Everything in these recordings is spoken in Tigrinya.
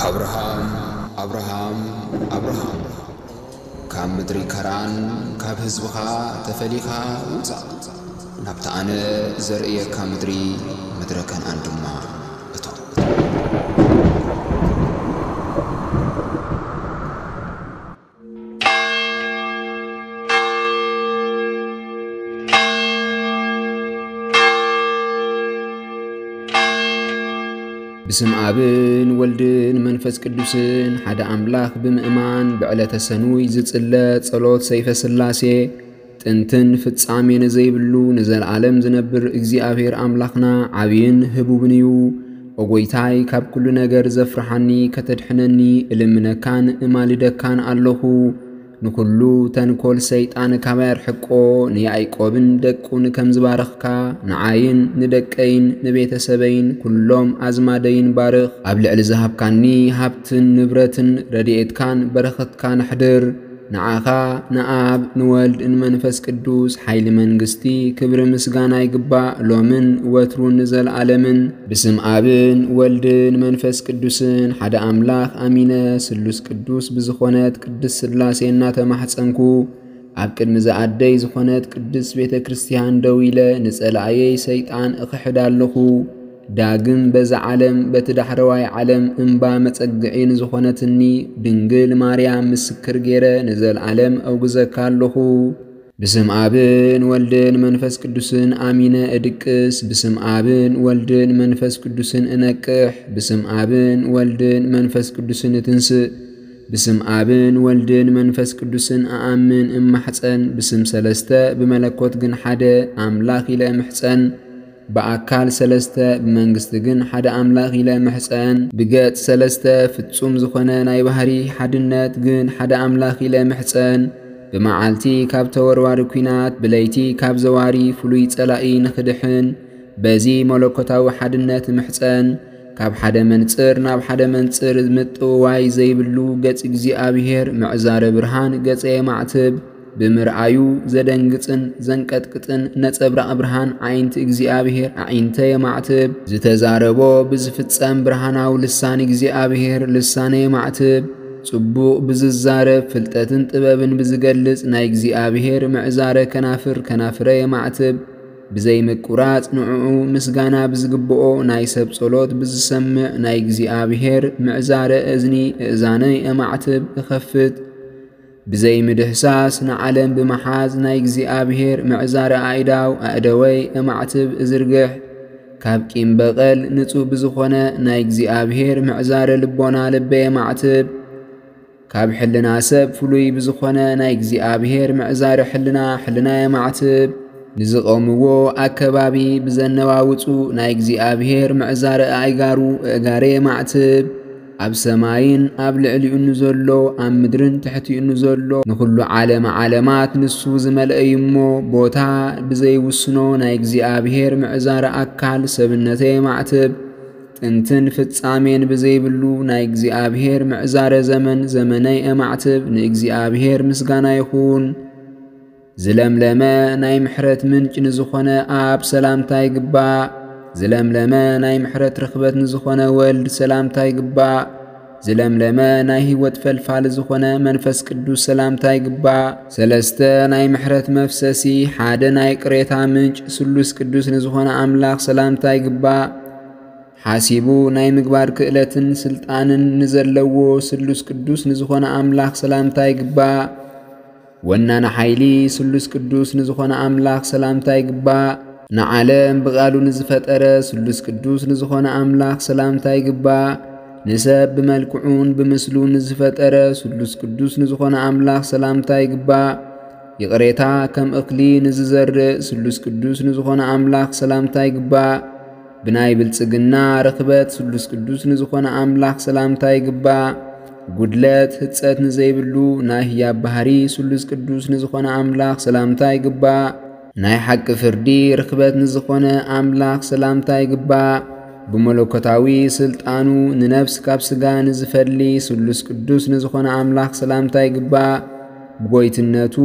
ኣብርሃም፣ ኣብርሃም፣ ኣብርሃም፣ ካብ ምድሪ ከራን፣ ካብ ህዝብኻ ተፈሊኻ ውጻእ። ናብታ ኣነ ዘርእየካ ምድሪ፣ ምድረ ከነኣን ድማ እቶ። ብስም ኣብን ወልድን መንፈስ ቅዱስን ሓደ ኣምላኽ ብምእማን፣ ብዕለተ ሰኑይ ዝጽለ ጸሎት ሰይፈ ስላሴ፣ ጥንትን ፍጻሜን ዘይብሉ ንዘለዓለም ዝነብር እግዚኣብሔር ኣምላኽና ዓብይን ህቡብን እዩ። ኦ ጎይታይ፣ ካብ ኩሉ ነገር ዘፍርሓኒ ከተድሕነኒ እልምነካን እማልደካን ኣለኹ። ንኩሉ ተንኮል ሰይጣን ካባይ ኣርሕቆ፣ ንያዕቆብን ደቁን ከም ዝባረኽካ፣ ንዓይን ንደቀይን ንቤተሰበይን ኩሎም ኣዝማደይን ባርኽ። ኣብ ልዕሊ ዝሃብካኒ ሃብትን ንብረትን ረድኤትካን በረኸትካን ኣሕድር። ንዓኻ ንኣብ ንወልድ ንመንፈስ ቅዱስ ሓይሊ መንግስቲ ክብሪ ምስጋና ይግባእ፣ ሎምን ወትሩን ንዘለዓለምን። ብስም ኣብን ወልድን መንፈስ ቅዱስን ሓደ ኣምላኽ ኣሚነ፣ ስሉስ ቅዱስ ብዝኾነት ቅድስት ስላሴ እናተማሕጸንኩ፣ ኣብ ቅድሚ ዝኣደይ ዝኾነት ቅድስት ቤተ ክርስቲያን ደው ኢለ ንጸላእየይ ሰይጣን እኽሕድ ኣለኹ። ዳግም በዛ ዓለም በቲ ዳሕረዋይ ዓለም እምባ መጸግዒ ንዝኾነትኒ ድንግል ማርያም ምስክር ገይረ ንዘለዓለም ኣውግዘካ ኣለኹ። ብስም ኣብን ወልድን መንፈስ ቅዱስን ኣሚነ እድቅስ፣ ብስም ኣብን ወልድን መንፈስ ቅዱስን እነቅሕ፣ ብስም ኣብን ወልድን መንፈስ ቅዱስን እትንስእ፣ ብስም ኣብን ወልድን መንፈስ ቅዱስን እኣምን እማሕጸን፣ ብስም ሰለስተ ብመለኮት ግን ሓደ ኣምላኽ ኢለ እምሕጸን። ብኣካል ሰለስተ ብመንግስቲ ግን ሓደ ኣምላኽ ኢለ እምሕጸን። ብገጽ ሰለስተ ፍጹም ዝኾነ ናይ ባህሪ ሓድነት ግን ሓደ ኣምላኽ ኢለ እምሕጸን። ብመዓልቲ ካብ ተወርዋሪ ኲናት፣ ብለይቲ ካብ ዘዋሪ ፍሉይ ጸላኢ ንኽድሕን፣ በዚ መለኮታዊ ሓድነት እምሕጸን። ካብ ሓደ መንጽር ናብ ሓደ መንጽር ምጥውዋይ ዘይብሉ ገጽ እግዚኣብሔር፣ ምዕዛረ ብርሃን ገጸ የማዕትብ። ብምርኣዩ ዘደንግጽን ዘንቀጥቅጥን ነጸብራቕ ብርሃን ዓይንቲ እግዚኣብሔር ኣዒንተ የማዕትብ። ዝተዛረቦ ብዝፍጸም ብርሃናዊ ልሳን እግዚኣብሔር ልሳነ የማዕትብ። ጽቡቕ ብዝዛረብ ፍልጠትን ጥበብን ብዝገልጽ ናይ እግዚኣብሔር ምዕዛረ ከናፍር ከናፍረ የማዕትብ። ብዘይምቁራጽ ንዕኡ ምስጋና ብዝግብኦ ናይ ሰብ ጸሎት ብዝሰምዕ ናይ እግዚኣብሔር ምዕዛረ እዝኒ እእዛነይ የማዕትብ እኸፍት። ብዘይምድህሳስ ንዓለም ብምሓዝ ናይ እግዚኣብሔር ምዕዛረ ኣእዳው ኣእደወይ እማዕትብ እዝርግሕ። ካብ ቂም በቐል ንጹህ ብዝኾነ ናይ እግዚኣብሔር ምዕዛረ ልቦና ልበይ የማዕትብ። ካብ ሕልና ሰብ ፍሉይ ብዝኾነ ናይ እግዚኣብሔር ምዕዛረ ሕልና ሕልና የማዕትብ። ንዝቐምዎ ኣከባቢ ብዘነዋውጹ ናይ እግዚኣብሔር ምዕዛረ ኣእጋሩ ኣእጋረ የማዕትብ። ኣብ ሰማይን ኣብ ልዕሊኡ ንዘሎ፣ ኣብ ምድርን ትሕቲኡ ንዘሎ፣ ንኹሉ ዓለመ ዓለማት ንሱ ዝመልአ እዩ እሞ፣ ቦታ ብዘይውስኖ ናይ እግዚኣብሔር ምዕዛረ ኣካል ሰብነተ የማዕትብ። ጥንትን ፍጻሜን ብዘይብሉ ናይ እግዚኣብሔር ምዕዛረ ዘመን ዘመነይ የማዕትብ። ንእግዚኣብሔር ምስጋና ይኹን። ዝለምለመ ናይ ምሕረት ምንጭ ንዝኾነ ኣብ ሰላምታ ይግባእ። ዝለምለመ ናይ ምሕረት ርኽበት ንዝኾነ ወልድ ሰላምታ ይግባእ። ዝለምለመ ናይ ህይወት ፈልፋል ዝኾነ መንፈስ ቅዱስ ሰላምታ ይግባእ። ሰለስተ ናይ ምሕረት መፍሰሲ፣ ሓደ ናይ ቅሬታ ምንጭ ስሉስ ቅዱስ ንዝኾነ ኣምላኽ ሰላምታ ይግባእ። ሓሲቡ ናይ ምግባር ክእለትን ስልጣንን ንዘለዎ ስሉስ ቅዱስ ንዝኾነ ኣምላኽ ሰላምታ ይግባእ። ወናነ ሓይሊ ስሉስ ቅዱስ ንዝኾነ ኣምላኽ ሰላምታ ይግባእ። ንዓለም ብቓሉ ንዝፈጠረ ስሉስ ቅዱስ ንዝኾነ ኣምላኽ ሰላምታ ይግባእ። ንሰብ ብመልክዑን ብምስሉን ንዝፈጠረ ስሉስ ቅዱስ ንዝኾነ ኣምላኽ ሰላምታ ይግባእ። ይቕሬታ ከም እኽሊ ንዝዘርእ ስሉስ ቅዱስ ንዝኾነ ኣምላኽ ሰላምታ ይግባእ። ብናይ ብልጽግና ርኽበት ስሉስ ቅዱስ ንዝኾነ ኣምላኽ ሰላምታ ይግባእ። ጉድለት ህጸት ንዘይብሉ ናይ ህያብ ባህሪ ስሉስ ቅዱስ ንዝኾነ ኣምላኽ ሰላምታ ይግባእ። ናይ ሓቂ ፍርዲ ርኽበት ንዝኾነ ኣምላኽ ሰላምታ ይግባእ። ብመለኮታዊ ስልጣኑ ንነፍስ ካብ ስጋ ንዝፈሊ ስሉስ ቅዱስ ንዝኾነ ኣምላኽ ሰላምታ ይግባእ። ብጎይትነቱ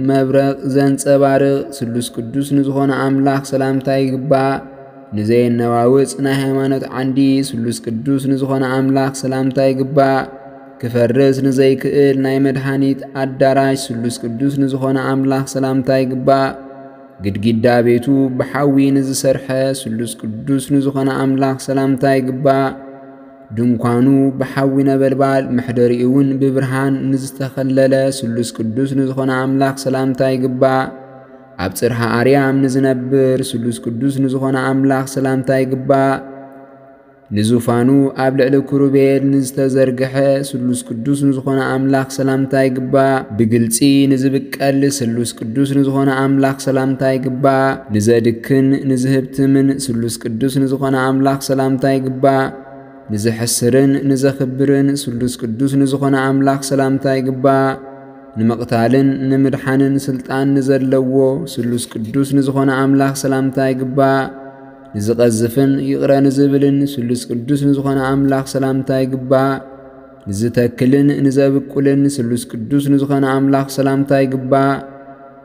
መብረቕ ዘንጸባርቕ ስሉስ ቅዱስ ንዝኾነ ኣምላኽ ሰላምታ ይግባእ። ንዘየነዋውጽ ናይ ሃይማኖት ዓንዲ ስሉስ ቅዱስ ንዝኾነ ኣምላኽ ሰላምታ ይግባእ። ክፈርስ ንዘይክእል ናይ መድኃኒት ኣዳራሽ ስሉስ ቅዱስ ንዝኾነ ኣምላኽ ሰላምታ ይግባእ። ግድግዳ ቤቱ ብሓዊ ንዝሰርሐ ስሉስ ቅዱስ ንዝኾነ ኣምላኽ ሰላምታ ይግባእ። ድንኳኑ ብሓዊ ነበልባል መሕደሪኡ እውን ብብርሃን ንዝተኸለለ ስሉስ ቅዱስ ንዝኾነ ኣምላኽ ሰላምታ ይግባእ። ኣብ ጽርሃ ኣርያም ንዝነብር ስሉስ ቅዱስ ንዝኾነ ኣምላኽ ሰላምታ ይግባእ። ንዙፋኑ ኣብ ልዕሊ ክሩቤል ንዝተዘርግሐ ስሉስ ቅዱስ ንዝኾነ ኣምላኽ ሰላምታ ይግባእ። ብግልጺ ንዝብቀል ስሉስ ቅዱስ ንዝኾነ ኣምላኽ ሰላምታ ይግባእ። ንዘድክን ንዝህብትምን ስሉስ ቅዱስ ንዝኾነ ኣምላኽ ሰላምታ ይግባእ። ንዘሕስርን ንዘኽብርን ስሉስ ቅዱስ ንዝኾነ ኣምላኽ ሰላምታ ይግባእ። ንምቕታልን ንምድሓንን ስልጣን ንዘለዎ ስሉስ ቅዱስ ንዝኾነ ኣምላኽ ሰላምታ ይግባእ። ንዝቐዝፍን ይቕረ ንዝብልን ስሉስ ቅዱስ ንዝኾነ ኣምላኽ ሰላምታ ይግባእ። ንዝተክልን ንዘብቁልን ስሉስ ቅዱስ ንዝኾነ ኣምላኽ ሰላምታ ይግባእ።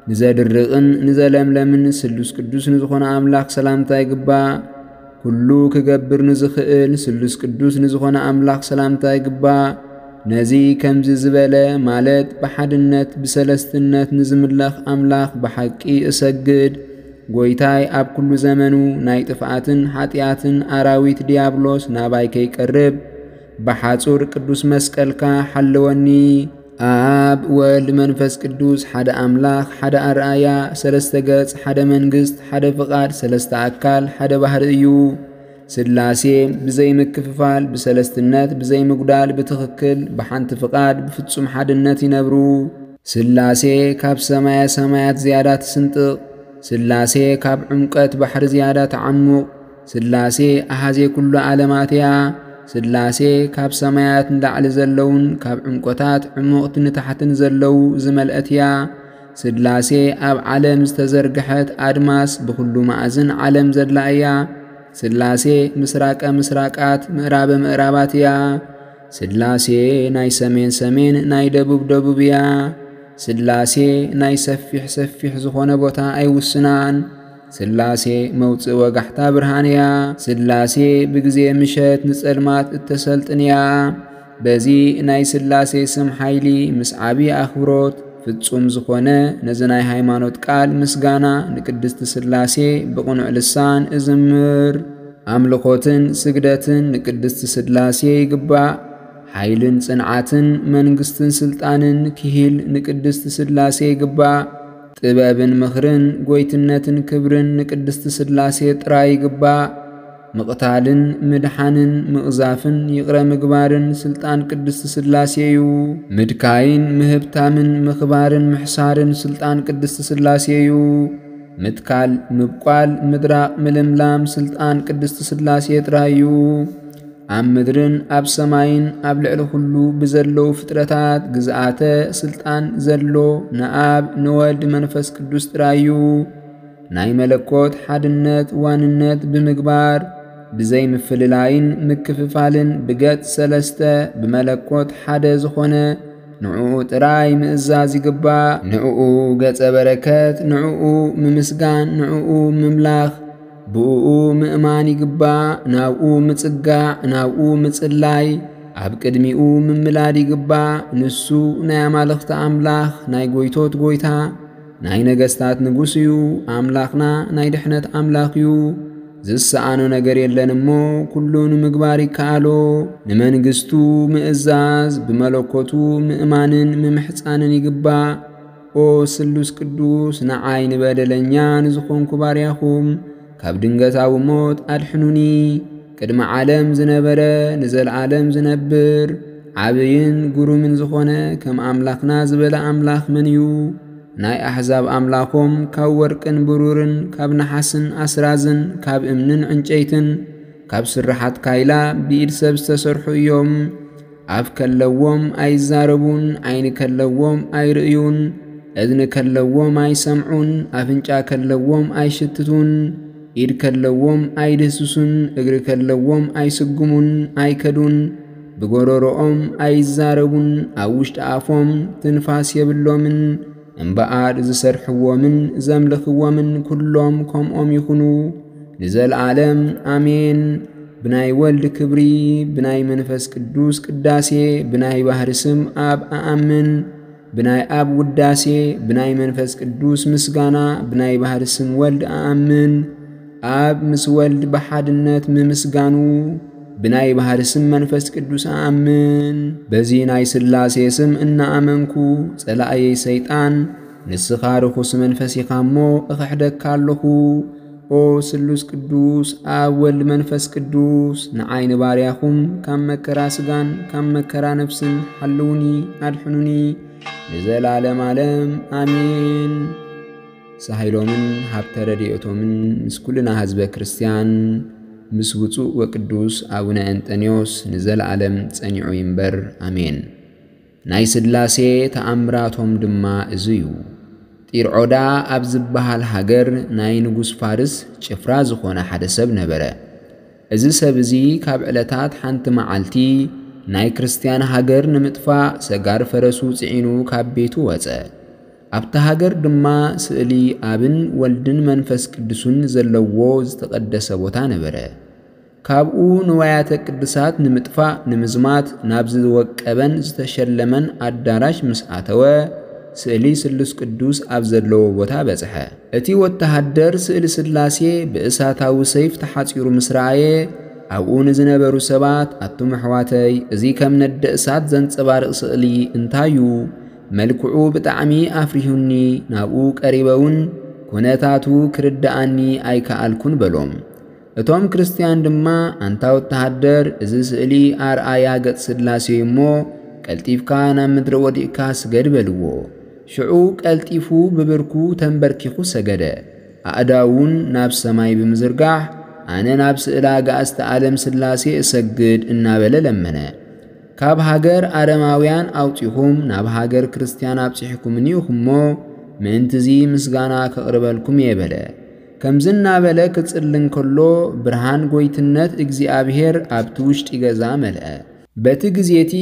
ንዘድርቕን ንዘለምለምን ስሉስ ቅዱስ ንዝኾነ ኣምላኽ ሰላምታ ይግባእ። ኩሉ ክገብር ንዝኽእል ስሉስ ቅዱስ ንዝኾነ ኣምላኽ ሰላምታ ይግባእ። ነዚ ከምዚ ዝበለ ማለት ብሓድነት ብሰለስትነት ንዝምለኽ ኣምላኽ ብሓቂ እሰግድ። ጎይታይ ኣብ ኩሉ ዘመኑ ናይ ጥፍኣትን ሓጢኣትን ኣራዊት ዲያብሎስ ናባይ ከይቀርብ ብሓጹር ቅዱስ መስቀልካ ሓልወኒ። ኣብ ወልድ መንፈስ ቅዱስ ሓደ ኣምላኽ፣ ሓደ ኣርኣያ፣ ሰለስተ ገጽ፣ ሓደ መንግስት፣ ሓደ ፍቓድ፣ ሰለስተ ኣካል፣ ሓደ ባህሪ እዩ። ስላሴ ብዘይምክፍፋል፣ ብሰለስትነት፣ ብዘይምጉዳል፣ ብትኽክል፣ ብሓንቲ ፍቓድ፣ ብፍጹም ሓድነት ይነብሩ። ስላሴ ካብ ሰማየ ሰማያት ዝያዳ ትስንጥቕ። ስላሴ ካብ ዕምቀት ባሕሪ ዝያዳ ተዓሙቕ። ስላሴ ኣሃዜ ኩሉ ዓለማት እያ። ስላሴ ካብ ሰማያት ንላዕሊ ዘለውን ካብ ዕምቆታት ዕሙቕቲ ንታሕትን ዘለዉ ዝመልአት እያ። ስላሴ ኣብ ዓለም ዝተዘርግሐት ኣድማስ ብኹሉ መኣዝን ዓለም ዘላ እያ። ስላሴ ምስራቀ ምስራቃት ምዕራበ ምዕራባት እያ። ስላሴ ናይ ሰሜን ሰሜን ናይ ደቡብ ደቡብ እያ። ስላሴ ናይ ሰፊሕ ሰፊሕ ዝኾነ ቦታ ኣይውስናን። ስላሴ መውፅእ ወጋሕታ ብርሃን እያ። ስላሴ ብግዜ ምሸት ንጸልማት እተሰልጥን እያ። በዚ ናይ ስላሴ ስም ሓይሊ ምስ ዓቢ ኣኽብሮት ፍጹም ዝኾነ ነዚ ናይ ሃይማኖት ቃል ምስጋና ንቅድስቲ ስላሴ ብቕኑዕ ልሳን እዝምር። ኣምልኾትን ስግደትን ንቅድስቲ ስላሴ ይግባእ። ሓይልን ጽንዓትን መንግስትን ስልጣንን ክሂል ንቅድስቲ ስላሴ ይግባእ። ጥበብን ምኽርን ጎይትነትን ክብርን ንቅድስቲ ስላሴ ጥራይ ይግባእ። ምቕታልን ምድሓንን ምቕዛፍን ይቕረ ምግባርን ስልጣን ቅድስቲ ስላሴ እዩ። ምድካይን ምህብታምን ምኽባርን ምሕሳርን ስልጣን ቅድስቲ ስላሴ እዩ። ምትካል ምብቋል ምድራቕ ምልምላም ስልጣን ቅድስቲ ስላሴ ጥራይ እዩ። ኣብ ምድርን ኣብ ሰማይን ኣብ ልዕሊ ኩሉ ብዘለዉ ፍጥረታት ግዝኣተ ስልጣን ዘሎ ንኣብ ንወልድ መንፈስ ቅዱስ ጥራይ እዩ። ናይ መለኮት ሓድነት ዋንነት ብምግባር ብዘይ ምፍልላይን ምክፍፋልን ብገጽ ሰለስተ ብመለኮት ሓደ ዝኾነ ንዕኡ ጥራይ ምእዛዝ ይግባእ። ንዕኡ ገጸ በረከት፣ ንዕኡ ምምስጋን፣ ንዕኡ ምምላኽ፣ ብእኡ ምእማን ይግባእ። ናብኡ ምጽጋዕ፣ ናብኡ ምጽላይ፣ ኣብ ቅድሚኡ ምምላድ ይግባእ። ንሱ ናይ ኣማልኽቲ ኣምላኽ፣ ናይ ጎይቶት ጎይታ፣ ናይ ነገስታት ንጉስ እዩ። ኣምላኽና ናይ ድሕነት ኣምላኽ እዩ። ዝሰኣኖ ነገር የለን እሞ ኩሉ ንምግባር ይከኣሎ። ንመንግስቱ ምእዛዝ፣ ብመለኮቱ ምእማንን ምምሕጻንን ይግባእ። ኦ ስሉስ ቅዱስ፣ ንዓይ ንበደለኛ ንዝኾንኩ ባርያኹም ካብ ድንገታዊ ሞት ኣድሕኑኒ። ቅድሚ ዓለም ዝነበረ ንዘለዓለም ዝነብር ዓብይን ግሩምን ዝኾነ ከም ኣምላኽና ዝበለ ኣምላኽ መን እዩ? ናይ ኣሕዛብ ኣምላኾም ካብ ወርቅን ብሩርን ካብ ነሓስን ኣስራዝን ካብ እምንን ዕንጨይትን ካብ ስርሓት ካይላ ብኢድ ሰብ ዝተሰርሑ እዮም። ኣፍ ከለዎም ኣይዛረቡን፣ ዓይኒ ከለዎም ኣይርእዩን፣ እዝኒ ከለዎም ኣይሰምዑን፣ ኣፍንጫ ከለዎም ኣይሽትቱን፣ ኢድ ከለዎም ኣይድህስሱን፣ እግሪ ከለዎም ኣይስጉሙን፣ ኣይከዱን። ብጎረሮኦም ኣይዛረቡን፣ ኣብ ውሽጢ ኣፎም ትንፋስ የብሎምን። እምበኣር ዝሰርሕዎምን ዘምልኽዎምን ኩሎም ከምኦም ይኹኑ ንዘለዓለም ኣሜን። ብናይ ወልድ ክብሪ፣ ብናይ መንፈስ ቅዱስ ቅዳሴ፣ ብናይ ባህሪ ስም ኣብ ኣኣምን፣ ብናይ ኣብ ውዳሴ፣ ብናይ መንፈስ ቅዱስ ምስጋና፣ ብናይ ባህሪ ስም ወልድ ኣኣምን። ኣብ ምስ ወልድ ብሓድነት ምምስጋኑ፣ ብናይ ባህሪ ስም መንፈስ ቅዱስ ኣኣምን። በዚ ናይ ስላሴ ስም እናኣመንኩ፣ ጸላእየይ ሰይጣን፣ ንስኻ ርኹስ መንፈስ ኢኻ እሞ እኽሕደካ ኣለኹ። ኦ ስሉስ ቅዱስ፣ ኣብ ወልድ መንፈስ ቅዱስ፣ ንዓይ ንባርያኹም ካብ መከራ ስጋን ካብ መከራ ነፍስን ሓልዉኒ፣ ኣድሕኑኒ፣ ንዘላለም ዓለም ኣሜን። ሳሂሎምን ሃብተ ረድኤቶምን ምስ ኩልና ህዝበ ክርስቲያን፣ ምስ ውጹእ ወቅዱስ ኣቡነ እንጠንዮስ ንዘለዓለም ጸኒዑ ይንበር። ኣሜን። ናይ ስላሴ ተኣምራቶም ድማ እዚ እዩ። ጢርዖዳ ኣብ ዝበሃል ሃገር ናይ ንጉስ ፋርስ ጭፍራ ዝኾነ ሓደ ሰብ ነበረ። እዚ ሰብ እዚ ካብ ዕለታት ሓንቲ መዓልቲ ናይ ክርስቲያን ሃገር ንምጥፋእ ሰጋር ፈረሱ ጽዒኑ ካብ ቤቱ ወጸ። ኣብቲ ሃገር ድማ ስእሊ ኣብን ወልድን መንፈስ ቅዱስን ዘለዎ ዝተቐደሰ ቦታ ነበረ። ካብኡ ንዋያተ ቅድሳት ንምጥፋእ ንምዝማት ናብ ዝወቀበን ዝተሸለመን ኣዳራሽ ምስ ኣተወ፣ ስእሊ ስሉስ ቅዱስ ኣብ ዘለዎ ቦታ በጽሐ። እቲ ወተሃደር ስእሊ ስላሴ ብእሳታዊ ሰይፍ ተሓጺሩ ምስ ረኣየ፣ ኣብኡ ንዝነበሩ ሰባት፣ ኣቱም ኣሕዋተይ፣ እዚ ከም ነደ እሳት ዘንጸባርቕ ስእሊ እንታይ እዩ? መልክዑ ብጣዕሚ ኣፍሪሁኒ፣ ናብኡ ቀሪበ እውን ኩነታቱ ክርድኣኒ ኣይከኣልኩን በሎም። እቶም ክርስትያን ድማ፣ ኣንታ ወተሃደር፣ እዚ ስእሊ ኣርኣያ ገጽ ስላሴ እዩ እሞ፣ ቀልጢፍካ ናብ ምድሪ ወዲቕካ ስገድ በልዎ። ሽዑ ቀልጢፉ ብብርኩ ተንበርኪኹ ሰገደ። ኣእዳውን ናብ ሰማይ ብምዝርጋሕ፣ ኣነ ናብ ስእለ ኣጋእዝተ ዓለም ስላሴ እሰግድ እናበለ ለመነ። ካብ ሃገር ኣረማውያን ኣውጺኹም ናብ ሃገር ክርስትያን ኣብጺሕኩምኒ ኢኹም እሞ፣ ምእንትዚ ምስጋና ከቕርበልኩም እየ በለ። ከምዚ እናበለ ክጽሊ እንከሎ፣ ብርሃን ጎይትነት እግዚኣብሔር ኣብቲ ውሽጢ ገዛ መልአ። በቲ ግዜ እቲ፣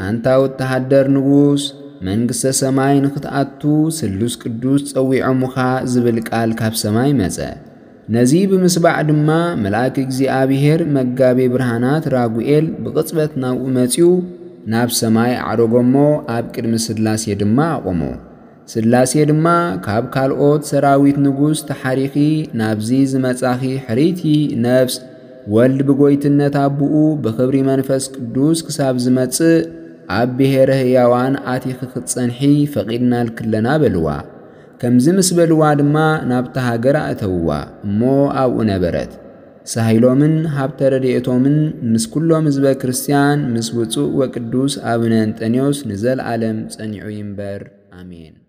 ኣንታ ወተሃደር ንጉስ፣ መንግስተ ሰማይ ንኽትኣቱ ስሉስ ቅዱስ ጸዊዖሙኻ ዝብል ቃል ካብ ሰማይ መጸ። ነዚ ብምስባዕ ድማ፣ መልኣክ እግዚኣብሔር መጋቤ ብርሃናት ራጉኤል ብቕጽበት ናብኡ መጺኡ፣ ናብ ሰማይ ኣዕረጎሞ፣ ኣብ ቅድሚ ስላሴ ድማ ኣቖሞ። ስላሴ ድማ፣ ካብ ካልኦት ሰራዊት ንጉስ ተሓሪኺ ናብዚ ዝመጻኺ ሕርይቲ ነፍስ፣ ወልድ ብጎይትነት ኣቦኡ ብኽብሪ መንፈስ ቅዱስ ክሳብ ዝመጽእ፣ ኣብ ብሔረ ህያዋን ኣቲኺ ክትጸንሒ ፈቒድናልኪ ኣለና በልዋ። ከምዚ ምስ በልዋ ድማ ናብታ ሃገር ኣእተውዋ፣ እሞ ኣብኡ ነበረት። ሳሂሎምን ሃብተ ረድኤቶምን ምስ ኩሎም ህዝበ ክርስቲያን፣ ምስ ውጹእ ወቅዱስ ኣቡነ እንጠንዮስ ንዘለዓለም ጸኒዑ ይንበር። ኣሜን።